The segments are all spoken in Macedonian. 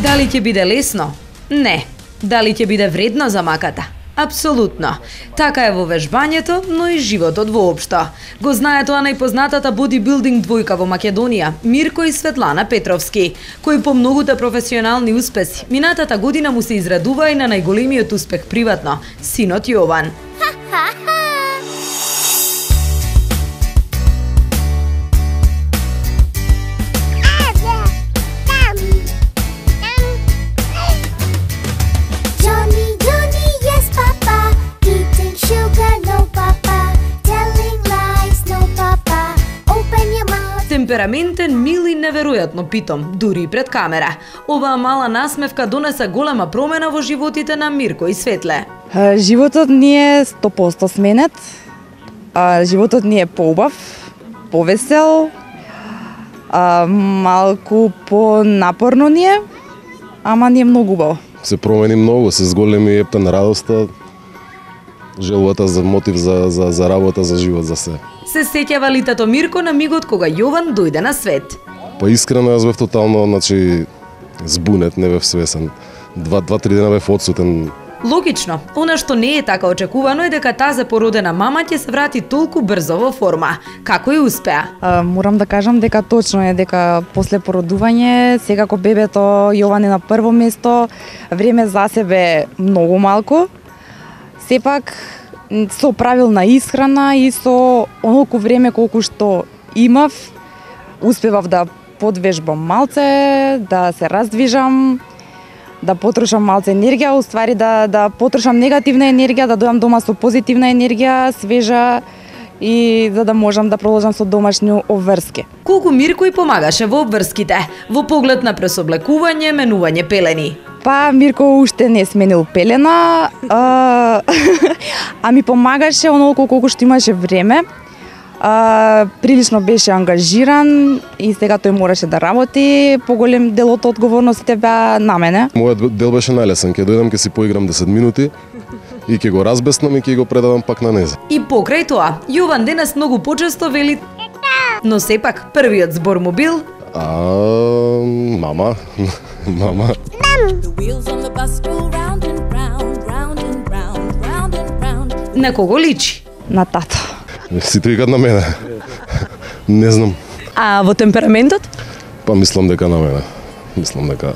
Дали ќе биде лесно? Не. Дали ќе биде вредно за маката? Апсолутно. Така е во вежбањето, но и животот воопшто. Го знае тоа најпознатата бодибилдинг двојка во Македонија, Мирко и Светлана Петровски, кои по многуте професионални успеси минатата година му се израдува и на најголемиот успех приватно, синот Јован. Темпераментен, мил и неверојатно питом, дури и пред камера. Оваа мала насмевка донесе голема промена во животите на Мирко и Светле. Животот ни е 100% сменет. Животот ни е поубав, повесел, малку понапорно ни е, ама ни е многу убаво. Се промени многу, се зголеми ептен радоста, желбата за мотив за работа, за живот, за се. Се сеќава ли тато Мирко на мигот кога Јован дојде на свет? Па искрено јас бев тотално, збунет, не бев свесен. 2-3 дена бев одсутен. Логично, она што не е така очекувано е дека тази породена мама ќе се врати толку брзо во форма. Како и успеа? Морам да кажам дека точно е дека после породување, секако бебето Јован е на прво место, време за себе многу малку. Сепак со правилна исхрана и со онолку време колку што имав, успевав да подвежбам малце, да се раздвижам, да потрошам малце енергија, уствари да потрошам негативна енергија, да дојам дома со позитивна енергија, свежа, и за да можам да продолжам со домашни обврски. Колку Мирко и помагаше во обврските, во поглед на пресоблекување, менување пелени? Па Мирко уште не сменил пелена, а ми помагаше онолку колку што имаше време. Прилично беше ангажиран и сега тој мораше да работи, поголем дел од одговорностите беа на мене. Мојот дел беше најлесен, ќе дојдам, ќе си поиграм 10 минути и ќе го разбеснам и ќе го предадам пак на незе. И покрај тоа, Јован денес многу почесто вели, но сепак првиот збор му бил мама, мама. На кого личи? На тато. Сите викат на мене. Не знам. А во темпераментот? Па мислам дека на мене. Мислам дека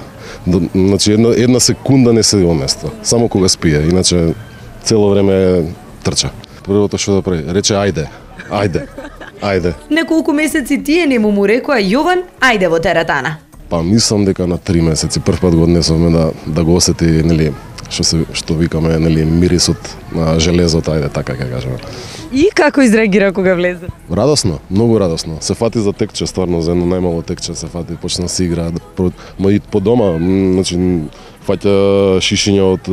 една секунда не седи во место. Само кога спие, иначе цело време трча. Првото што да прави, рече ајде. Неколку месеци тие не му рекоа Јован, ајде во теретана. Па мислам дека на 3 месеци прв пат го однесовме да го осети, што викаме, мирисот на железото, ајде така ќе кажеме. И како изреагира кога влезе? Радосно, многу радосно. Се фати за текче, стварно, за едно најмало текче се фати, почна да се игра. Ма и по дома, фаќа шишиња од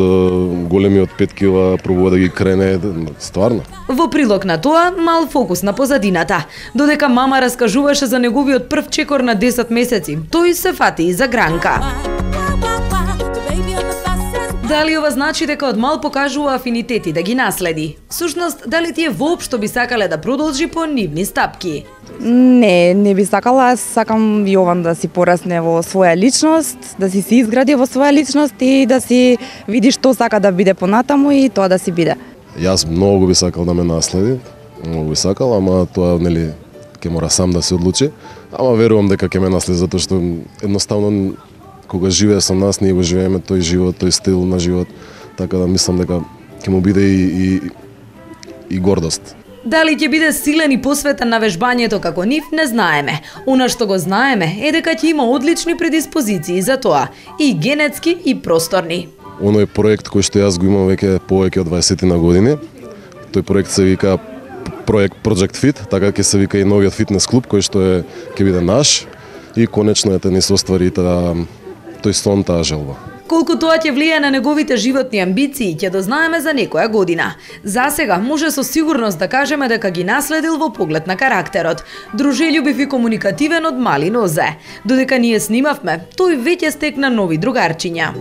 големиот 5 кила, пробува да ги крене, стварно. Во прилог на тоа, мал фокус на позадината. Додека мама раскажуваше за неговиот прв чекор на 10 месеци, тој се фати и за гранка. Дали ова значи дека од мал покажува афинитети да ги наследи? Всушност, дали тие воопшто би сакале да продолжи по нивни стапки? Не би сакала. Аз сакам Јован да си порасне во своја личност, да си се изгради во своја личност и да си види што сака да биде понатаму и тоа да си биде. Јас многу би сакал да ме наследи, многу би сакал, ама тоа ќе мора сам да се одлучи. Ама верувам дека ќе ме наследи затоа што едноставно кога живее со нас, ние го живееме тој живот, тој стил на живот, така да мислам дека ќе му биде и гордост. Дали ќе биде силен и посветен на вежбањето како нив, не знаеме. Она што го знаеме е дека ќе има одлични предиспозиции за тоа, и генетски и просторни. Оној проект кој што јас го имам веќе повеќе од 20 на години, тој проект се вика проект Project Fit, така ќе се вика и новиот фитнес клуб кој што ќе биде наш и конечно да ни се оствари тој сон, таа желба. Колку тоа ќе влијае на неговите животни амбиции, ќе дознаеме за некоја година. За сега може со сигурност да кажеме дека ги наследил во поглед на карактерот. Дружелјубив и комуникативен од мали нозе. Додека ние снимавме, тој веќе стекна нови другарчиња.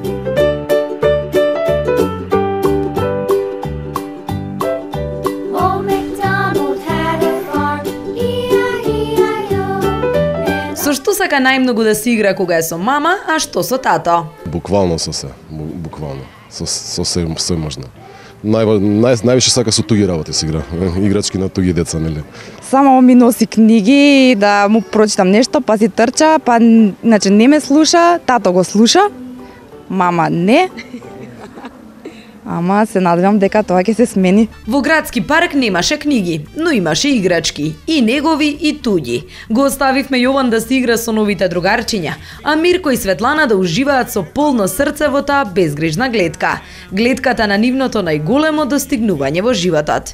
сака најмногу да се игра кога е со мама, а што со тато? Буквално со се, буквално. Со се можно. Највише сака со туги работи се игра. Играчки на туги деца, нели? Само ми носи книги да му прочитам нешто, па си трча, па значи не ме слуша, тато го слуша, мама не. Ама се надевам дека тоа ќе се смени. Во градски парк немаше книги, но имаше играчки, и негови и туѓи. Го оставивме Јован да се игра со новите другарчиња, а Мирко и Светлана да уживаат со полно срце во таа безгрижна гледка. Гледката на нивното најголемо достигнување во животот.